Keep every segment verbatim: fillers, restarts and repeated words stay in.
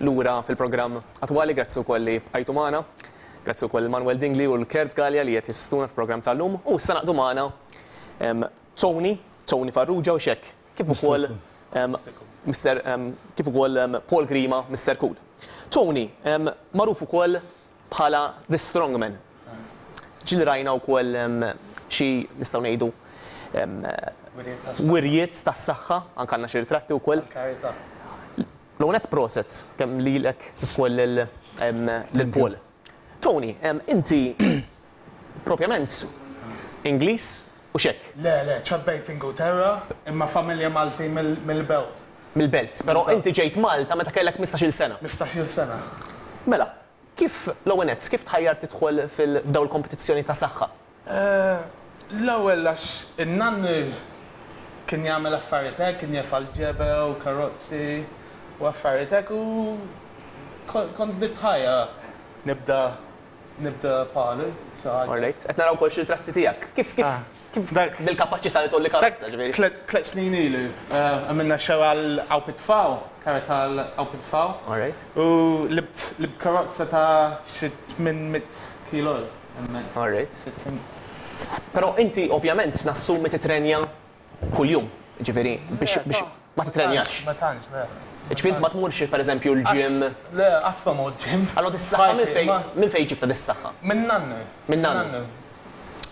Lura fil-programm attwali, grazzi wkoll li bqajtu magħna. Grazzi wkoll Manuel Dingli u l-Kurt Galea li qed jissistuna fil-programm tal-lum. U issa naqdu magħna em, Tony, Tony Farrugia u xek, kif ukoll em, Mister em, kif ukoll em, Paul Grima, Mister Cool. Tony, em, magħruf ukoll bħala The Strongman. Ġieli rajna wkoll em, xi nistgħu ngħidu em, wirjiet tas-saħħa, anke għandna xi ritratti wkoll. Karità. L-għonet proset, kemm lilek kif ukoll lil em, lil Paul. Tony, em, inti propjament Ingliż u xek? Le, le, trabbejt Ingilterra, imma familja Malti mill- mill-Belt. Mill-Belt, però inti ġejt Malta meta kellek ħmistax-il sena. Ħmistax-il sena. Mela, kif l-ewwel kif tħajjar tidħol fil-f'daw il-kompetizzjoni ta' saħħa? Eh, L-ewwel għax in-nannu kien jagħmel affarijiet hekk, kien jerfa' l-ġebel, karozzi u affarijiet hekk u kon- kont nitħajjar nibda nibda palu. Xi ħaġa. Alright, qed naraw ukoll xi ritratti tiegħek. Kif kif Ah. kif Dak- bil-kapaċità li tgħolli karozza, ġifieri? Tlet tlet snin ilu, eh, għamilna show għal Awp it-Tfal, karità għal Awp it-Tfal. Alright. U libt libt karozza ta' xi tmien mitt kilo hemmhekk. Alright. Però inti ovvjament nassumi titrenja kuljum, ġifieri biex biex ma titrenjax. Ma tantx, le. Ġifieri inti ma tmurx, pereżempju, l-gym. Le, qatt ma mort gym. Allora dis-saħħa minn fejn Ma- minn fejn ġibta dis-saħħa? Minn nannu. Minn nannu.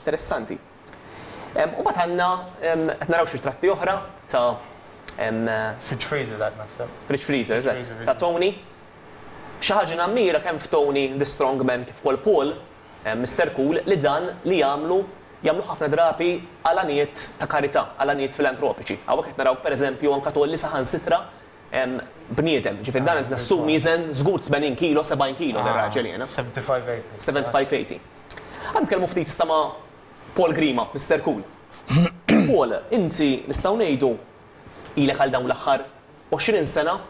Interessanti. Em, U mbagħad għandna em, qed naraw xi ritratti oħra ta' em, Fridge freezer dak naħseb. Fridge freezer, eżatt, Freezer. Ta' Tony. Xi ħaġa nammira kemm f'Tony the Strongman kif ukoll Paul, em, Mister Cool, li dan li jagħmlu jagħmlu ħafna drabi għal għanijiet ta' karità, għal għanijiet filantropiċi. Hawnhekk qed naraw, pereżempju, anke tgħolli saħansitra em, bniedem, ġifieri dan qed nassumi jiżen żgur tmenin kilo, sebgħin kilo dar-raġel jiena. sebgħa u ħamsin tmenin. sebgħa u ħamsin tmenin. Ħa nitkellmu ftit issa ma' Paul Grima, Mister Cool. Paul, inti nistgħu ngħidu ilek għal dawn l-aħħar għoxrin sena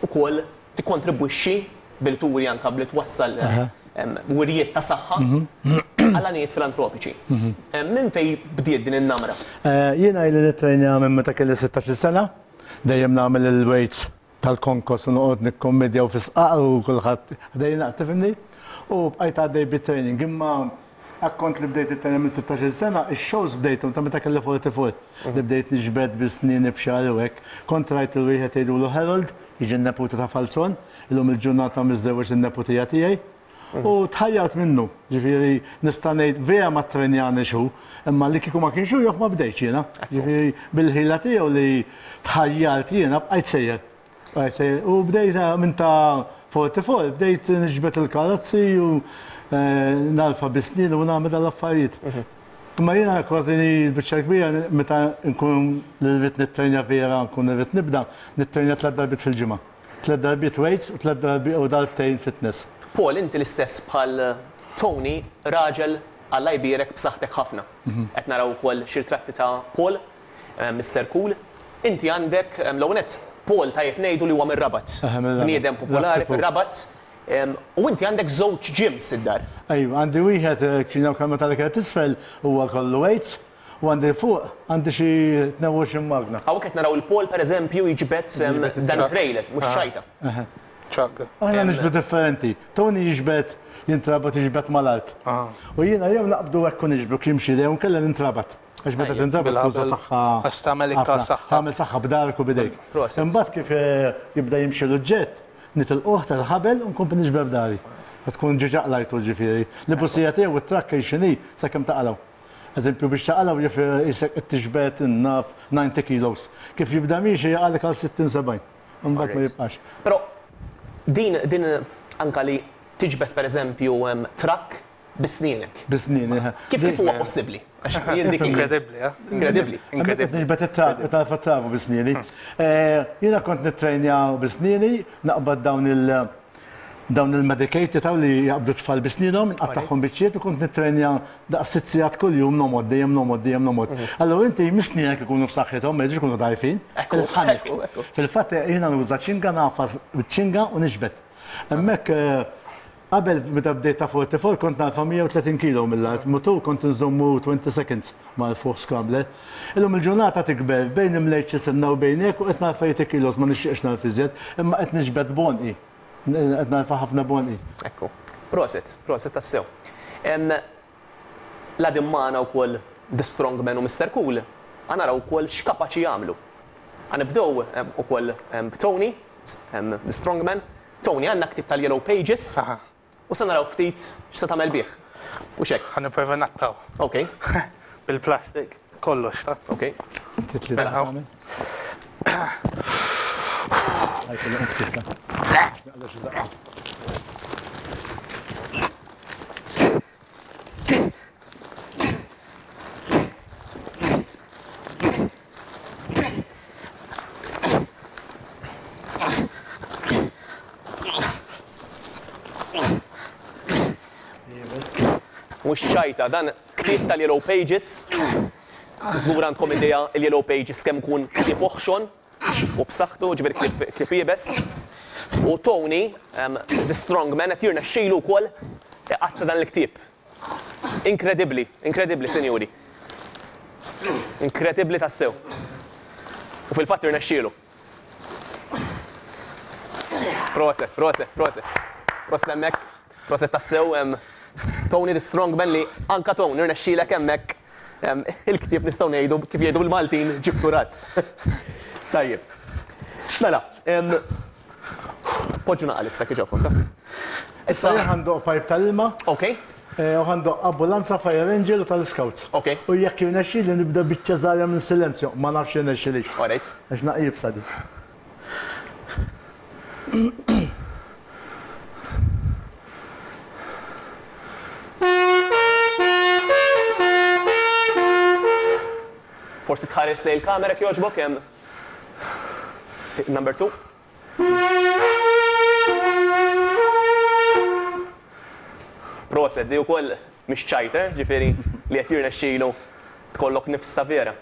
ukoll tikkontribwixxi bil-turi anka bli twassal em, wirjiet ta' saħħa għal għanijiet filantropiċi. Em, Minn fej bdiet din in-namra? Eh, Jiena ili nittrejnja minn meta kelli sittax-il sena, dejjem nagħmel il-weights tal-konkos u noqgħod nikkommedja u fisqaq u kulħadd ħdejna, tifhimni? U bqajt għaddej bit-training, imma akkont li bdejt it-training minn sittax-il sena, ix-shows bdejthom ta' meta kelli erbgħa u erbgħin, li bdejt niġbed bis-snin b'xagħri u hekk. Kont rajt il-wieħed jgħidulu Harold, jiġi n-neputi ta' Falzon, illum il-ġurnata miżżewweġ in-neputija tiegħi. U tħajjart minnu, ġifieri nista' ngħid vera ma trenjani xu, imma li kieku ma kienx hu jaf ma bdejtx jiena. Ġifieri bil-ħila tiegħu li tħajjart jiena bqajt sejjer. Bqajt sejjer. U bdejt minn ta' erbgħa u erbgħin, bdejt niġbed il-karozzi u eh, narfa bis-snin u nagħmel dal-affarijiet. Imma jiena kważi l-biċċa kbira meta nkun li rrid nittrejnja vera, nkun rrid nibda, nittrejnja tliet darbiet fil-ġimgħa. Tliet darbiet weights u tliet darbiet u darbtejn fitness. Paul, inti l-istess bħal Tony, raġel Alla jbierek b'saħħtek ħafna. Qed naraw ukoll xi ritratti ta' Paul, eh, Mister Cool. Inti għandek em, l-ewwel nett, Paul tajjeb ngħidu li huwa mir-Rabat. Eħe, mir-Rabat. Bniedem popolari Rabat. Fir-Rabat. Em, U inti għandek żewġ gyms id-dar. Ejwa, għandi wieħed eh, kċina u kamra tal-ikel t'isfel huwa kollu weights u għandi fuq għandi xi tnejn u għoxrin magna. Hawnhekk qed naraw il-Paul, pereżempju, jiġbed em, dan trailer, mhux xajta. Truck. Aħna niġbdu differenti. Tony jiġbed jintrabat, jiġbed mal-art. U jiena jew naqbdu hekk u niġbdu jimxi jew nkella nintrabat. Għax meta Tajjeb. tintrabat tuża Bil-ħabel. saħħa. Għax tagħmel iktar ħafna. saħħa. Tagħmel saħħa b'darek u bidejk. Proset. Imbagħad kif eh, jibda jimxi l-oġġett, nitilquh tal-ħabel u nkompli niġbed b'dahri. Tkun ġiġa qlajtu ġifieri. Li busija tiegħu it-trakk xini sakemm taqalgħu. Eżempju, biex taqalgħu jif jisek tiġbed naf disgħin kilos. Kif jibda miexi jaqalek għal sittin sebgħin. Imbagħad ma Alright. jibqax. Però din din anka li tiġbed, pereżempju, em, trakk bisnienek. Bisnini. Kif kif huwa possibbli? Għax jien dik Inkredibbli, eh? Inkredibbli. Inkredibbli. Niġbed it-trab, it trabu bisnini. Jiena kont nittrejnja bisnini, naqbad dawn il- dawn il-medicated taw li jaqbdu tfal bisninhom, nqattagħhom biċċiet u kont nittrejnja daqs sitt sigħat kuljum nomod, dejjem nomod, dejjem nomod. Allora inti misnienek ikunu f'saħħithom, ma jiġux ikunu dajfin. Ekku, Il-ħanek. ekku, ekku. Fil-fatt jiena nuża ċinga, nagħfas ċinga u niġbed. Hemmhekk eh, qabel meta bdejt ta' erbgħa u erbgħin kont narfa mija u tletin kilo mill-art, mutur kont nżommu twenty seconds mal-fuq scrambler. Illum il-ġurnata tikber bejn imlejt xi senna u bejnek u qed narfa tmenin kilos, ma nixtieqx narfa iżjed, imma qed niġbed b'għonqi. Qed narfa' ħafna b'għonqi. Ekku. Prosit, prosit tassew. La dimmana wkoll The Strongman u Mister Cool, ħa naraw ukoll x'kapaċi jagħmlu. Ħa nibdew ukoll b'Tony, The Strongman. Tony, għandna ktieb tal-Yellow Pages u se naraw ftit x'se tagħmel bih. U xek? Ħa nipprova naqtgħu. Ok. Bil-plastik, kollox, ta' Ok. Ftit li tagħmel. Mhux ċajta, dan ktieb tal-Yellow Pages. Żgur għandkom idea il-Yellow Pages kemm kun ktieb oħxon u b'saħħtu, ġifieri ktieb iebes. U Tony, The Strongman, qed jirnexxielu wkoll iqatta' dan il-ktieb. Inkredibbli, inkredibbli, sinjuri. Inkredibbli tassew. U fil-fatt irnexxielu. Proset, proset, proset. Proset hemmhekk, proset tassew. Tony the Strongman li anka Tony irnexxielek hemmhekk il-ktieb nistgħu ngħidu kif jgħidu bil-Maltin ġibturat. Tajjeb. Mela, poġġu naqal issa kif ġobkom, ta'. Issa ħa ndoqq pipe tal-ilma. Ok. U ħa ndoqq ambulanza, Fire Angel u tal-Scouts. Ok. U jekk jirnexxieli nibda biċċa żgħira minn silenzju, ma nafx jirnexxilix. All right. Għax naqjib sadi. Forsi tħares lejn il-kamera kjoġbok hemm number two. Proset, di wkoll mhix ċajter, ġifieri li qed jirnexxielu tkollok nifs ta' vera.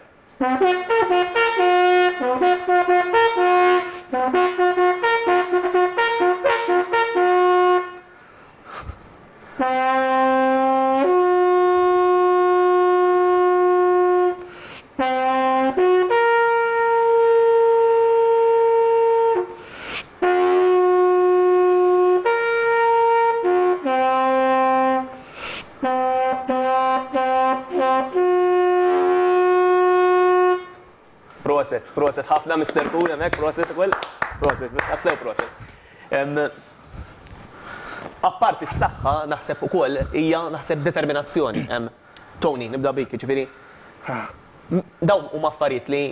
Proset, proset ħafna Mister Cool hemmhekk, proset ukoll. Proset, tassew proset. Apparti s-saħħa naħseb ukoll hija naħseb determinazzjoni. Tony, nibda bik, ġifieri. Dawn huma affarijiet li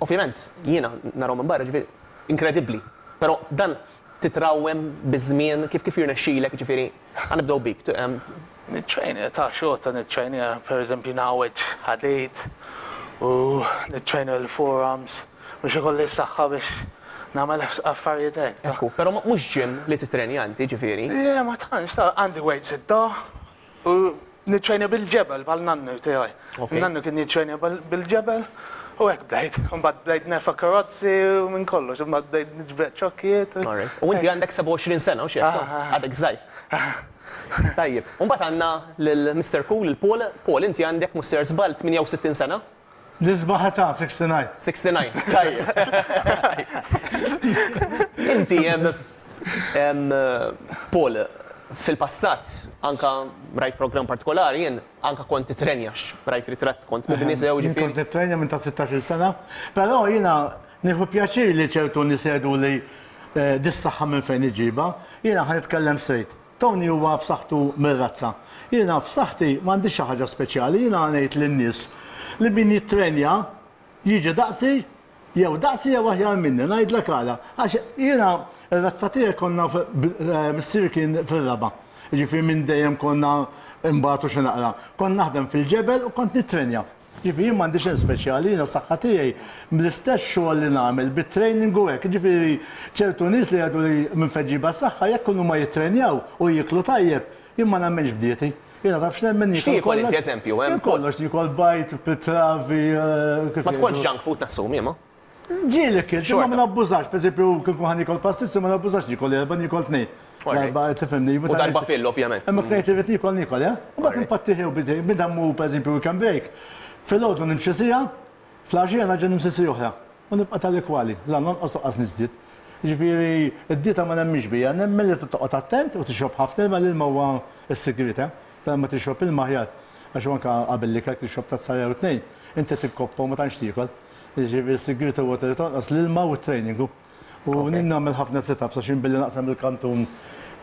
ovvjament jiena narahom minn barra, ġifieri inkredibbli. Però dan titrawem biż-żmien kif kif jirnexxilek, ġifieri ħa nibdew bik. Nittrejnja ta' xorta nittrejnja, pereżempju ngħawweġ ħadid u nittrejnja l-forearms biex ikolli s-saħħa biex nagħmel affarijiet hekk. Ekku, però mhux gym li titrenja inti, ġifieri. Le, ma tantx, ta' għandi weights id-dar u nittrejnja bil-ġebel bħal nannu tiegħi. Nannu kien jittrejnja bil-ġebel u hekk bdejt. Imbagħad bdejt nerfa' karozzi u minn kollox, imbagħad bdejt niġbed ċokkijiet. U inti għandek sebgħa u għoxrin sena u xi hekk, għadek żgħir. Tajjeb, u mbagħad għandna lil Mister Cool, lil Paul. Paul, inti għandek mhux ser żball tmienja u sittin sena? L-isbaħ ta' sixty-nine. sixty-nine, tajjeb. Inti, Paul, fil-passat, anka rajt program partikolari, jien anka kont titrenjax, rajt ritratt, kont mibni sew ġifieri. Kont nitrenja minn ta' sittax-il sena, però jiena nieħu pjaċir li ċertu nies jgħidu li dis-saħħa minn fejn iġibha, jiena ħa nitkellem straight. Tony huwa b'saħħtu mir-razza. Jiena b'saħħti m'għandix xi ħaġa speċjali, jiena ngħid lin-nies li min jittrenja jiġi daqsi jew daqsi jew aħjar minni, ngħidlek għala. Għax jiena r-razza tiegħi konna missier kien fir-raba'. Jiġifieri minn dejjem konna imbagħtu xi naqra. Kont naħdem fil-ġebel u kont nittrenja. Jiġifieri jien m'għandix xejn speċjali, jiena s-saħħa tiegħi mill-istess xogħol li nagħmel bit-training u hekk. Jiġifieri ċertu nies li jgħidu li minn fejn ġibha s-saħħa jekk kienu ma jittrenjaw u jieklu tajjeb, jien ma nagħmilx bdieti. Jiena taf x'nemmen niekol X'tiekol inti kollox. eżempju, hemm? Kollox niekol bajt, pitravi, kif Ma tkolx jgħidu. junk food nassumi, ma? Ġieli kilt, imma ma Xorta. nabbużax, pereżempju kif nkun ħa niekol pastizzi ma nabbużax niekol erba' niekol tnejn. Alright. Darba, tifhimni, U darba fil, ovvjament. Imma knejt li rrid niekol niekol, eh? U mbagħad Alright. npattiħi u bidej, minn dan mhu pereżempju weekend break. Filgħodu nimxi siegħa, fl-għaxija nerġa' nimxi siegħa oħra. U nibqa' tal-ekwali, la nonqos u qas niżdied. Ġifieri, id-dieta ma nemminx biha, nemmen li toqgħod attent u tixrob ħafna ilma, l-ilma huwa s-sigriet, eh? Ma tixrob ilma aħjar. Għax anke qabel li kellek tixrob tazza jew tnejn, inti tikkoppa u ma tantx tiekol. Ġifieri s-sigriet huwa li tonqos l-ilma u t-training. U nagħmel ħafna sit-ups għax billi naqsam il-kantun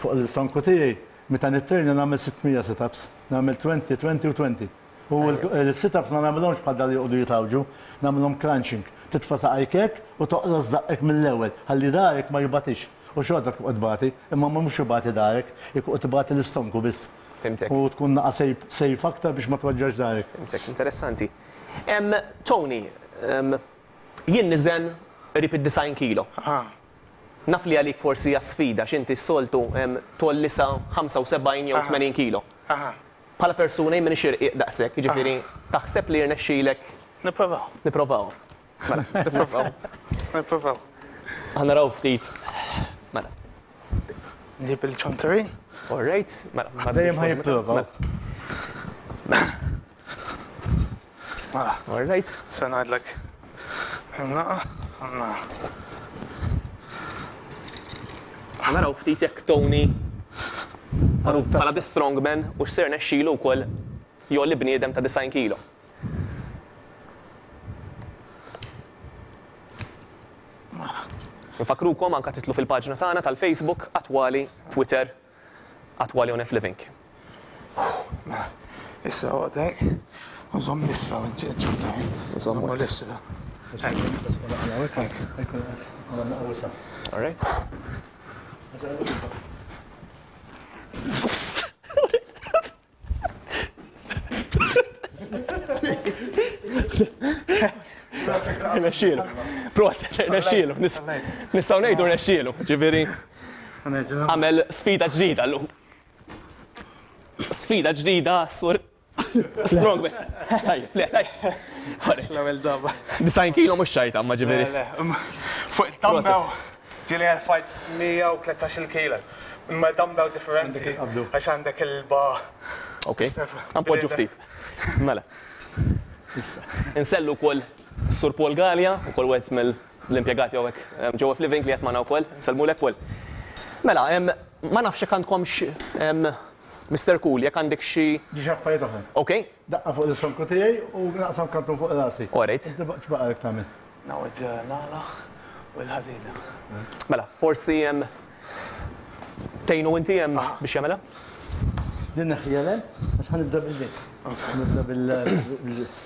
fuq l-istonku tiegħi, meta nittrejna nagħmel sitt mija sit-ups, nagħmel għoxrin, għoxrin u għoxrin. U l-sit-ups ma nagħmilhomx bħal dal joqogħdu jitawġu, nagħmilhom crunching. Titfa' saqajk hekk u toqros żaqqek mill-ewwel, ħalli dahrek ma jbatix. U xorta tkun qed tbati, imma mhux ibati dahrek, ikun qed tbati l-istonku biss. Fhimtek. U tkun naqa safe aktar biex ma tweġġax dahrek. Fhimtek, interessanti. Em, Tony, em, jien niżen qrib id-disgħin kilo. Naf li għalik forsi hija sfida x'inti s-soltu em, tgħolli sa ħamsa u sebgħin jew tmenin kilo. Bħala persuna jien m'iniex irqiq daqshekk, jiġifieri taħseb li jirnexxilek? Nipprovaw. Nipprovaw. Mela, nipprovaw. Nipprovaw. Ħa naraw ftit. Mela. Nġib il-ċanturin. All right. Mela. Dejjem ħa jipprova. Mela. All right. Se ngħidlek. Imnaqa, imnaqa. Ħa naraw ftit jekk Tony magħruf bħala the strongman u x'ser nexxilu wkoll jgħolli bniedem ta' disgħin kilo. Nfakrukom anka titlu fil-paġna tagħna tal-Facebook, Attwali, Twitter, Attwali on F Living. Issa għodek, nżomm l-isfel, ċanturin. Nżomm l-isfel. All right. Rnexxielu. Proset, rnexxielu. Nistgħu ngħidu rnexxielu, ġifieri għamel sfida ġdida llum. Sfida ġdida sur Strongman. Tajjeb, le, tajjeb. L-ewwel darba. Disgħin kilo mhux ċajta, ma ġifieri. Le, le, fuq il-dumbbell ġieli għal mija u tlettax-il kilo. Imma dumbbell differenti għax għandek il-bar. Ok, għanpoġġu ftit. Mela. Insellu wkoll Sur Paul Gallia, ukoll wieħed mill-impjegati hawnhekk ġewwa Living li qed magħna wkoll, nsellmulek Paul. Mela, ma nafx jekk għandkomx Mister Cool, jekk għandek xi Ġi affarijiet oħra. Ok. Daqqa fuq l-istonku tiegħi u naqsam kantun fuq rasi. All right. Inti x'baqalek tagħmel? Nawġ nagħla u l-ħadida. Mela, forsi hemm tgħinu inti hemm biex jagħmilha? Din neħħija l għax ħa nibda bil-din. Nibda bil-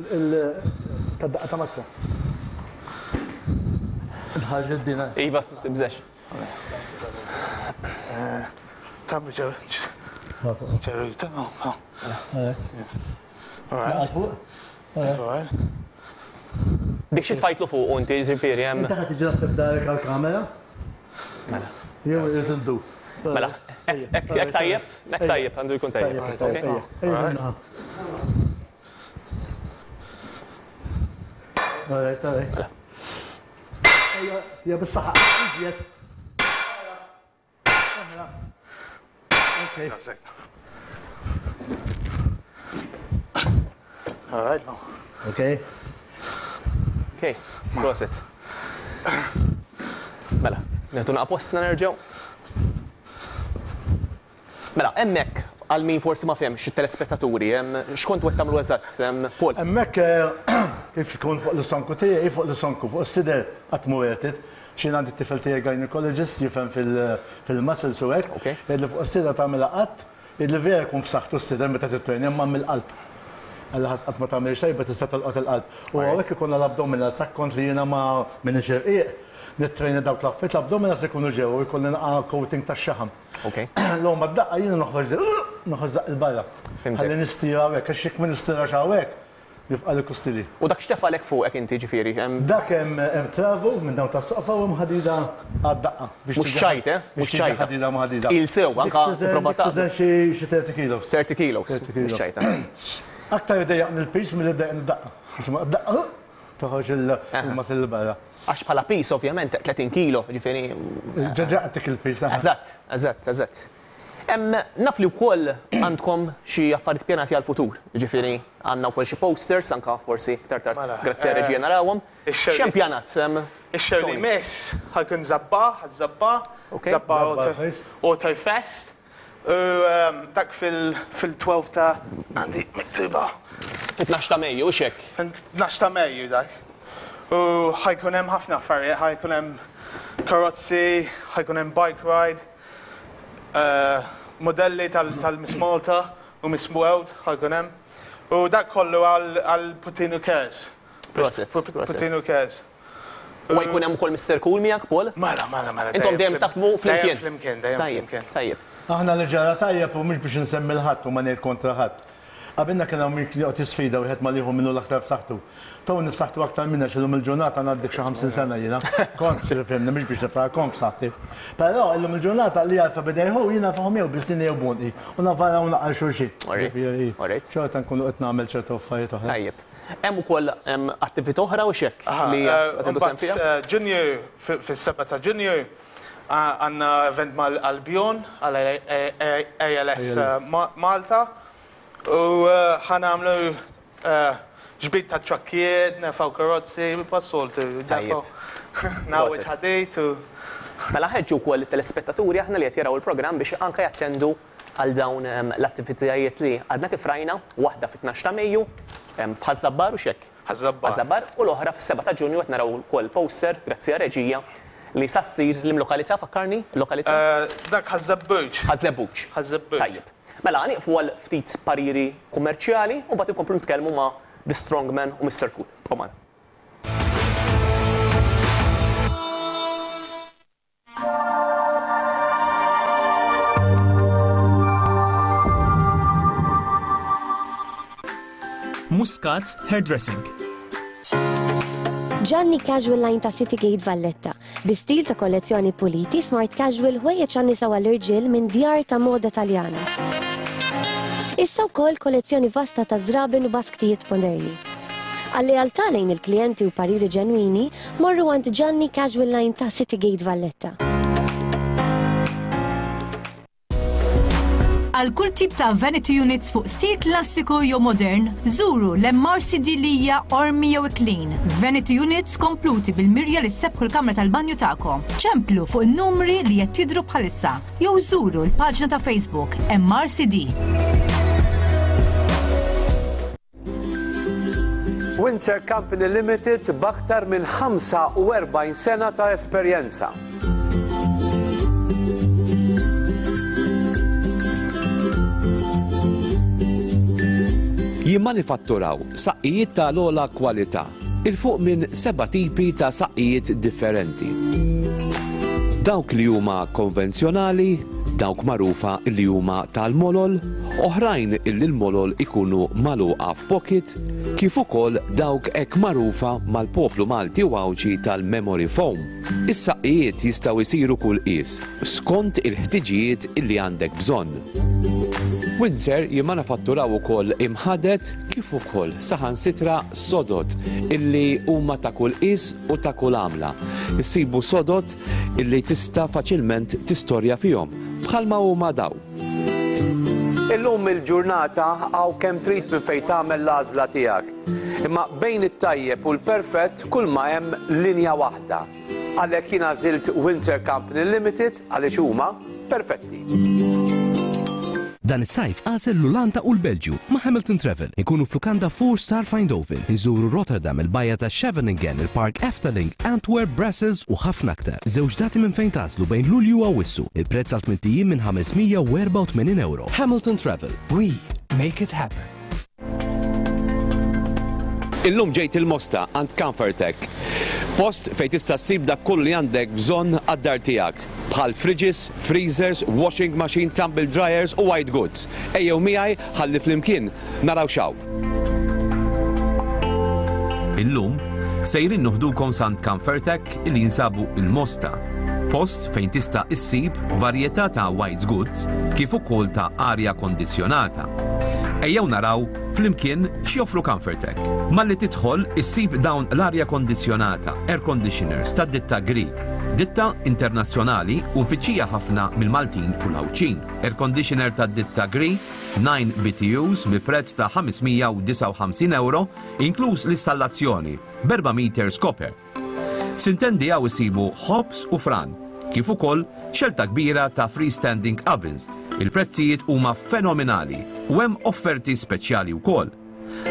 Il-tadaqqa ta' mazza. Nħarġ id-dina. Iva, tibżex. Tammi ġew. Ġew, ta' All right. Dik xi tfajtlu fuq inti, ġifieri hemm. Inti ħa tiġi naħseb darek għall-kamera? Mela. Jew irid indu. Mela, hekk tajjeb, hekk tajjeb, għandu jkun tajjeb. Alright, alright. Ejja, bis-saħħa, iżjed. Okay. All right, no. Okay. Okay, proset. Mela, nieħdu naqa postna nerġgħu. Mela, hemmhekk għal min forsi ma fehmx it-telespettaturi, x'kontu qed tagħmlu eżatt, Paul? Hemmhekk kif ikun fuq l-istonku tiegħi, fuq l-istonku, fuq is-sider qatt mu għetit. Xi għandi t-tifel tiegħi gynecologist jifhem fil-muscles u hekk. Li fuq is-sider tagħmilha qatt, li vera jkun f'saħħtu s-sider meta titrejn imma mill-qalb. Alla ħas qatt ma tagħmel xejn, tista' tolqot il-qalb. U hawnhekk ikun l-abdominals, kont li jiena ma m'iniex irqiq, nittrejna dawk l-affarijiet, l-abdominals ikunu ġew u jkolli naqa' coating tax-xaħam. Ok. L-għom daqqa jiena noħroġ noħroġ daqq il-barra. Ħalli nistira hawnhekk, għax jekk ma nistirax hawnhekk, jibqa' li kustili. U dak x'tefalek fuqek inti ġifieri? Dak hemm travu minn dawn tas-soqfa u hemm ħadida għad-daqqa. Mhux ċajt, eh? Mhux ċajta. Ħadida ma' ħadida. Il sew, anka tipprova ta' Tiżen xi thirty kilos. thirty kilos, mhux ċajta. Aktar idejjaqni l-pis milli ddejjaqni d-daqqa. Għax ma d-daqqa toħroġ il-muscle 'l barra. Għax bħala pis ovvjament tletin kilo, ġifieri. Ġaġaqtek il-pis. Eżatt, eżatt, eżatt. Naf li wkoll għandkom xi affarijiet pjanati għall-futur, jiġifieri għandna wkoll xi posters anke forsi iktar tard grazzi għar-reġija narawhom. X'hemm pjanat? Ix-show li jmiss ħa jkun Żabbar, Żabbar, Żabbar Auto Fest. U dak fil-twelve ta' għandi miktuba. Fit-tnax ta' Mejju, hux hekk? Fit-tnax ta' Mejju dak. U ħa jkun hemm ħafna affarijiet, ħa jkun hemm karozzi, ħa jkun hemm bike ride, modelli tal-Miss Malta u Miss World ħa jkun hemm. U dak kollu għal Puttinu Cares. Proset. Puttinu Cares. U jkun hemm ukoll Mister Cool miegħek, Paul? Mela, mela, mela. Intom dejjem taħdmu flimkien. Dejjem flimkien, dejjem flimkien. Tajjeb. Aħna li ġara tajjeb u mhux biex nsemmi l-ħadd u ma ngħid kontra ħadd. Qabilna kien hawn min joqgħod jisfida wieħed ma lieħu minnu l-aktar f'saħħtu. Tony f'saħħtu aktar minna x'illum il-ġurnata ngħaddik xi ħamsin sena jiena. Kont fimni mhux biex niftaħ kont f'saħħti. Però illum il-ġurnata li għalfa bidejħu jiena fahom jew biss jew bonqi u navara u naqal xulxin. Xorta nkunu qed nagħmel ċertu affarijiet oħra. Tajjeb. Hemm ukoll attività oħra u x'hekk li qed sem fiha? Ġunju fis-seba' ta' Ġunju għandna event mal-Albion għal A L S Malta. U ħa nagħmlu ġbid ta' trakkijiet, nerfgħu karozzi, b'assoltu, nagħwġ ħadid u. Mela ħeġġu wkoll it-telespettaturi aħna li qed jaraw il-programm biex anke jattendu għal dawn l-attivitajiet li għadna kif rajna, waħda fit-tnax ta' Mejju f'Ħaż-Żabbar u x'hekk. Ħaż-Żabbar. Ħaż-Żabbar u l-oħra fis-seba' ta' Ġunju qed naraw ukoll poster grazzi għar-reġija li sa ssir l-imlokalità, fakkarni, l-lokalità? Dak Ħaż-Żebbuġ. Ħaż-Żebbuġ. Ħaż-Żebbuġ. Tajjeb. Mela nieqfu għal ftit pariri kummerċjali u mbagħad inkomplu nitkellmu ma' The Strongman u Mister Cool. Ibqgħu magħna. Muscat Hairdressing. Gianni Casual Line ta' City Gate Valletta. Bi stil ta' kollezzjoni puliti, smart casual ħwejjeġ għan-nisa u għall-irġiel minn djar ta' moda Taljana. Issa wkoll kollezzjoni vasta ta' żraben u basktijiet moderni. Għal-lealtà lejn il-klijenti u pariri ġenwini, morru għand Gianni Casual Line ta' City Gate Valletta. Għal kull tip ta' vanity units fuq stil klassiku jew modern, żuru l-M R C D Lija, Ormi jew Clean. Vanity units kompluti bil-mirja li ssebħu l-kamra tal-banju tagħkom. Ċemplu fuq in-numri li qed jidhru bħalissa jew żuru l-paġna ta' Facebook M R C D. Windsor Company Limited b'aktar minn ħamsa u erbgħin sena ta' esperjenza. Jimmanifatturaw saqqijiet ta' l-ogħla kwalità, il fuq minn seba' tipi ta' saqqijiet differenti. Dawk li huma konvenzjonali, dawk magħrufa li huma tal-molol, oħrajn illi l-molol ikunu magħluqa f'pocket, kif ukoll dawk hekk magħrufa mal-poplu Malti u Għawdxi tal-memory foam. Is-saqqijiet jistgħu jsiru kull qies, skont il-ħtiġijiet illi għandek bżonn. Windsor jimmanifatturaw ukoll imħadet kif ukoll saħansitra sodot illi huma ta' kull qies u ta' kull għamla. Issibu sodot illi tista' faċilment tistorja fihom bħalma huma daw. Illum il-ġurnata hawn kemm trid minn fejn tagħmel l-għażla tiegħek. Imma bejn it-tajjeb u l-perfett kull ma hemm linja waħda. Għalhekk jien għażilt Windsor Company Limited għaliex huma perfetti. Dan is-sajf għażel l-Olanda u l-Belġju ma' Hamilton Travel. Inkunu f'lukanda four star Eindhoven, inżuru Rotterdam, il-bajja ta' Scheveningen, il-Park Efteling, Antwerp, Brussels u ħafna aktar. Żewġ dati minn fejn tażlu bejn Lulju u Awwissu. Il-prezz għal tmien ijiem minn ħames mija u erbgħa u tmenin euro. Hamilton Travel. We make it happen. Illum ġejt il-Mosta għand Comfortech. Post fejn tista' ssib dak kollu li għandek bżonn għad-dar tiegħek. Bħal fridges, freezers, washing machine, tumble dryers u white goods. Ejjew miegħi ħalli flimkien naraw xaw. Illum sejrin nuħdukom sant Comfortech illi jinsabu il-Mosta. Post fejn tista' issib varjetà ta' white goods kif ukoll ta' arja kondizjonata. Ejjew naraw flimkien x'joffru Comfortech. Malli tidħol issib dawn l-arja kondizjonata, air conditioners ta' ditta Gree. Ditta internazzjonali u mfittxija ħafna mill-Maltin u l-Għawdxin. Air conditioner ta' ditta Gree, nine B T Us bi prezz ta' ħames mija u disgħa u ħamsin euro, inkluż l-installazzjoni b'erba' meters copper. Sintendi hawn isibu ħobż u fran, kif ukoll xelta kbira ta' freestanding ovens. Il-prezzijiet huma fenomenali u hemm offerti speċjali wkoll.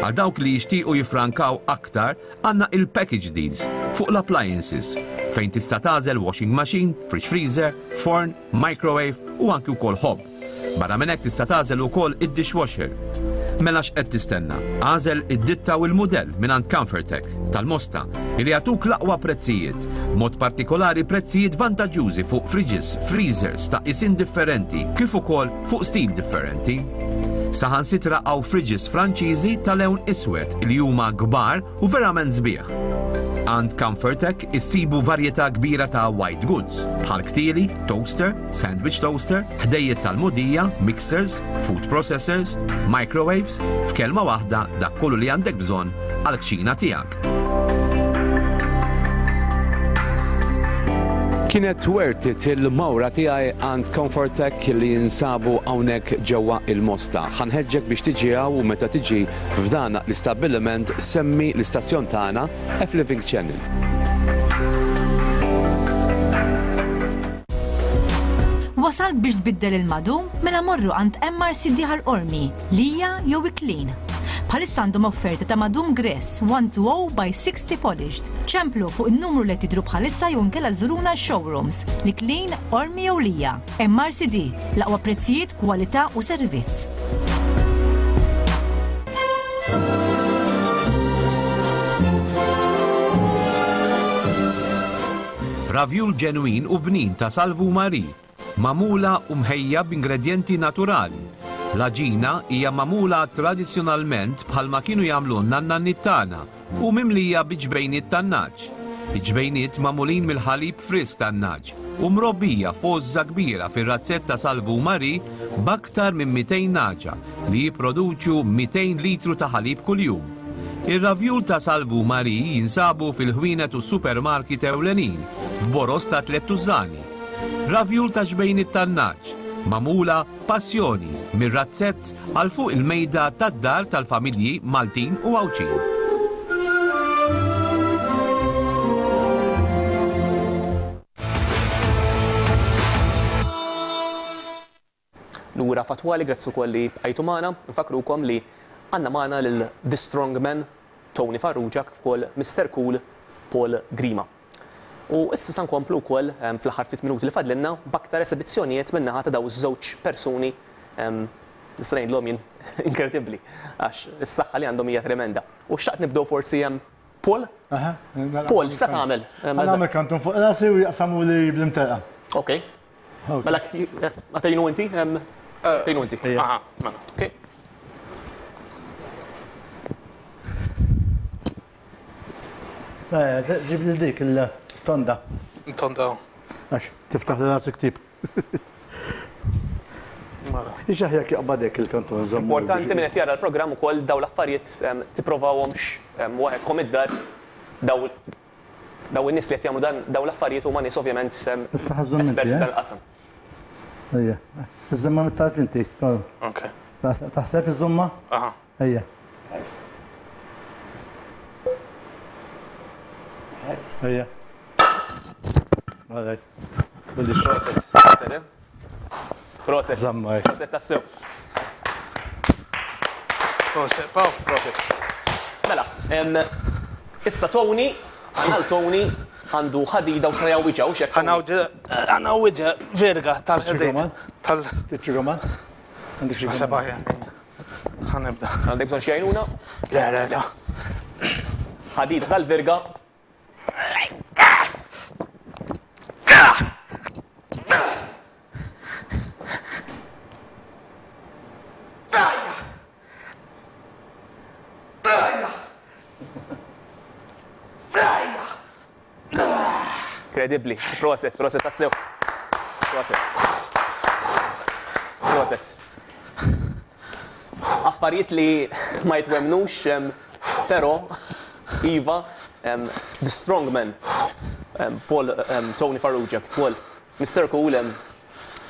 Għal dawk li jixtiequ jifrankaw aktar, għandna il-package deals fuq l-appliances, fejn tista' tagħżel washing machine, fridge freezer, forn, microwave u anki wkoll hob. Barra minn hekk tista' tagħżel ukoll id-dishwasher. Mela x'qed tistenna? Għażel id-ditta u l-mudell mingħand Comfortech tal-Mosta li jagħtuk l-aqwa prezzijiet, mod partikolari prezzijiet vantaġġużi fuq fridges, freezers ta' isin differenti, kif ukoll fuq stil differenti. Saħansitra hawn fridges Franċiżi ta' lewn iswed li huma kbar u verament sbieħ. Għand Comfortech issibu varjetà kbira ta' white goods bħal ktili, toaster, sandwich toaster, ħdejjiet tal-mudija, mixers, food processors, microwaves, f'kelma waħda dak kollu li għandek bżonn għall-kċina tiegħek. Kienet worth it il-mawra tiegħi għand Comfortech li jinsabu hawnhekk ġewwa il-Mosta. Ħanħeġġek biex tiġi hawn u meta tiġi f'dan l-istabbiliment semmi l-istazzjon tagħna F Living Channel. Wasalt biex tbiddel il-madum mela morru għand M R C D Ħal Qormi, Lija jew Iklin. Bħalissa għandhom offerta ta' madum Gress one two oh by sixty polished. Ċemplu fuq in-numru li tidru bħalissa jew inkella żuruna showrooms li Klin, Qormi jew Lija. M R C D, l-aqwa prezzijiet, kwalità u servizz. Ravjul ġenwin u bnin ta' Salvu Mari, magħmula u mħejja b'ingredjenti naturali. L-għaġina hija magħmula tradizzjonalment bħalma kienu jagħmlu n-nannaniet tagħna u mimlija bi ġbejniet tan-naġ. Iġbejniet magħmulin mill-ħalib frisk tan-naġ u mrobbija f'għożża kbira fir-razzett ta' Salvu Mari b'aktar minn mitejn naġa li jipproduċu mitejn litru ta' ħalib kuljum. Ir-ravjul ta' Salvu Mari jinsabu fil-ħwienet u supermarket ewlenin f'boros ta' tliet tużani. Ravjul ta' ġbejniet tan-naġ magħmula passjoni mir-razzett għal fuq il-mejda tad-dar tal-familji Maltin u Għawdxin. Lura fatwali, grazzi wkoll li bqajtu magħna. Nfakrukom li għandna magħna lil The Strong Man Tony Farrugia kif ukoll Mister Cool Paul Grima. U issa sa nkomplu wkoll, ehm, fl-aħħar ftit minuti li fadlilna b'aktar esibizzjonijiet min-naħa ta' daw iż-żewġ persuni, ehm, nista' ngħidlhom jien inkredibbli għax is-saħħa li għandhom hija tremenda. U xtaqt nibdew forsi hemm Paul? Aha, mela, Paul, x'se tagħmel? Ehm, Ħa nagħmel kantun fuq rasi u jaqsamu li bl-imtelqa. Ok. Ok. Mela, ma tgħinu inti? Ehm, tgħinu inti. Ejja. Aha, mela. Ok. Eh, ġib li dik il-tonda. Tonda. Għax, tiftaħ li rasek tip. Mela. Ix aħjar jaqbadek il-kantun, żommu. Importanti minn qed jara l-programm ukoll daw l-affarijiet, ehm, tipprovawhomx, ehm, waħedkom id-dar, daw, daw in-nies li qed jagħmlu dan daw l-affarijiet huma nies ovvjament, ehm, Issa ħażhom inti, esperti eh? tal-qasam. Ejja. Iżżomma mit-tarf inti. Ok. Taħseb iżżomma? Aha. Ejja. Ejja. All right. Proset, proset, eh? Proset. Żamma, eh. Proset tassew. Proset, Paw. Proset. Mela, em, issa Tony, għal Tony għandu ħadida u sa jawwiġa, u xek? Għanawwiġa verga tal-ħadid. Tal- Tiċċi Għandek xi Naħseb aħjar. Ħanibda. Għandek bżonn xi għajnuna? Le, le, le. Ħadida tal-verga. Incredibli. Proset, proset tassew. Proset. Proset. Affarijiet li ma jitwemnux, em, però, Iva, em, the strong man, Paul Tony Farrugia kif ukoll Mister Cool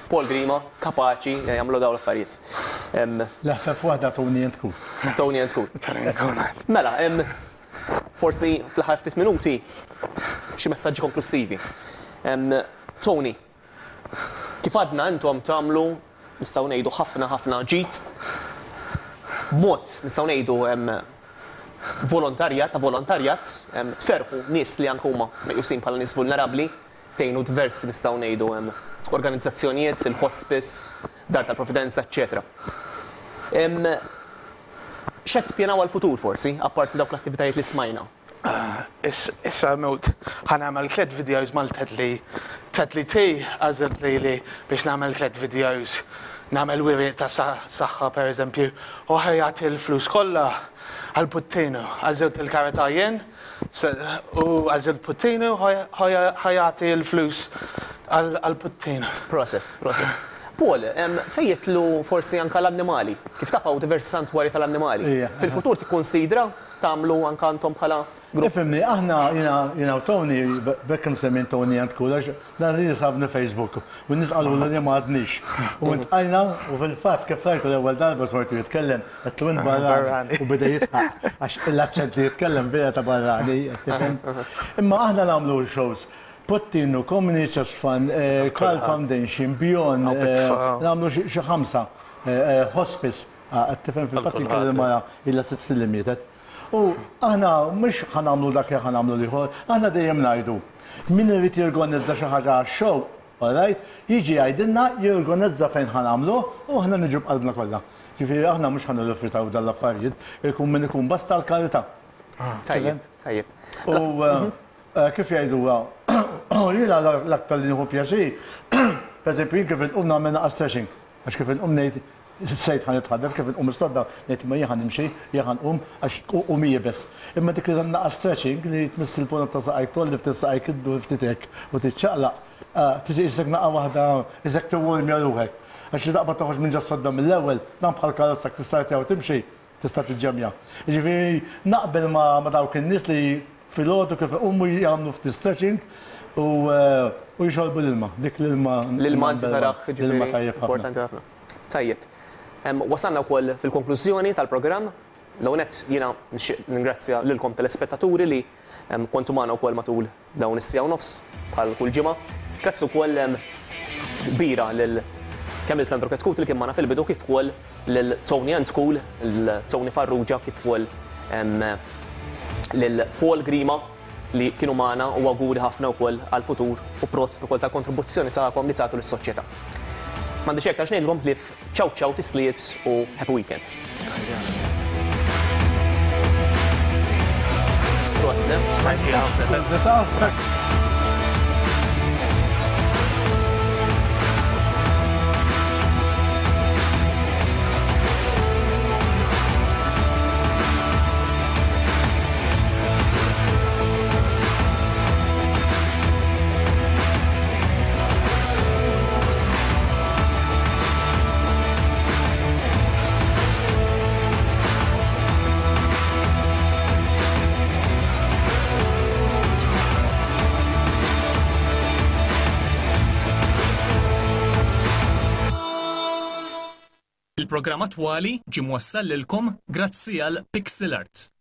Paul Grima kapaċi jagħmlu dawn l-affarijiet. L-ħfef waħda Tony and Cool. Tony and Cool. Mela, forsi fl-aħħar ftit minuti xi messaġġi konklusivi. Tony, kif għadna intom tagħmlu nistgħu ngħidu ħafna ħafna ġid b'mod nistgħu ngħidu volontarjat ta' volontarjat tferħu nies li anke huma meqjusin bħala nies vulnerabbli, tgħinu diversi nistgħu ngħidu organizzazzjonijiet, il-hospice, Dar tal-Providenza, eċċetera. X'qed tippjanaw għall-futur forsi, apparti dawk l-attivitajiet li smajna? Issa mewt ħa nagħmel tliet videos mal-Tedley. Tedley T għażilt lili biex nagħmel tliet videos. Nagħmel wiri ta' saħħa pereżempju u ħa jagħti l-flus kollha għal Puttinu. Għażilt il-karità jien u għażilt Puttinu ħa jagħti l-flus għal Puttinu. Proset, proset. Paul, fejn jidħlu forsi anke l-annimali? Kif taf hawn diversi santwarji tal-annimali? Fil-futur tikkonsidra tagħmlu anke intom bħala grupp? Ifhimni, aħna jiena u Tony, b'hekk imsemmin Tony and Cool, għax dan li sabni Facebook u n-nies qalulna li ma għadniex. U ntqajna u fil-fatt kif rajtu l-ewwel darba smajtu jitkellem, għedtlu int barrani u beda jidħaq għax l-aċċent li jitkellem vera ta' barrani, tifhem? Imma aħna nagħmlu shows. Puttinu, Community Chest Fund, Carl Foundation, Beyond, nagħmlu xi ħamsa, hospice, tifhem fil-fatt li kelli mara ilha sitt snin li mietet. U aħna mhux ħa nagħmlu dak li ħa nagħmlu l-ieħor, aħna dejjem ngħidu. Min irid jorganizza xi ħaġa għax-show, all right, jiġi jgħidilna, jorganizza fejn ħa nagħmlu u aħna niġu b'qalbna kollha. Ġifieri aħna mhux ħa nirrifjutaw dan l-affarijiet, ikun min ikun basta l-karità. Tajjeb, tajjeb. U kif jgħiduha, jiena l-aktar li nieħu pjaċir, pereżempju jien kif inqum nagħmel naqas stretching, għax kif inqum ngħid sejt ħa nitħaddef, kif inqum is-sodda ngħid imma jien ħa nimxi, jien ħa nqum għax qum iebes. Imma dik li naqas stretching li tmiss il-ponot ta' saqajk tolli ftit saqajk iddur ftit hekk u tiċċaqlaq, tiġi qisek naqa' waħda qisek tiwwarmja ruħek. Għax li taqbad toħroġ minn ġas-sodda mill-ewwel, dan bħal karozza tista' u timxi, tista' tiġġemja. Jiġifieri naqbel ma' dawk in-nies li filgħodu kif iqumu jagħmlu ftit stretching u jxorbu l-ilma. Dik l-ilma. L-ilma inti taraħ ġifieri importanti ħafna. Tajjeb. Wasalna wkoll fil-konklużjoni tal-programm. L-ewwel nett jiena nixtieq ningrazzja lilkom telespettaturi li kontu magħna wkoll matul dawn is-siegħa u nofs bħal kull ġimgħa. Grazzi wkoll kbira lil kemm il Sandro Chetcuti li kien magħna fil-bidu kif ukoll lil Tony and Cool, lil Tony Farrugia kif ukoll lil Paul Grima li kienu magħna u awguri ħafna wkoll għall-futur u prosit ukoll tal-kontribuzzjoni tagħkom li tagħtu lis-soċjetà. M'għandix aktar x'ngħidilkom ħlief ciao ciao tisliet u happy weekend. Prosit. Il-programm attwali ġie mwassal lilkom grazzi għal Pixel Art.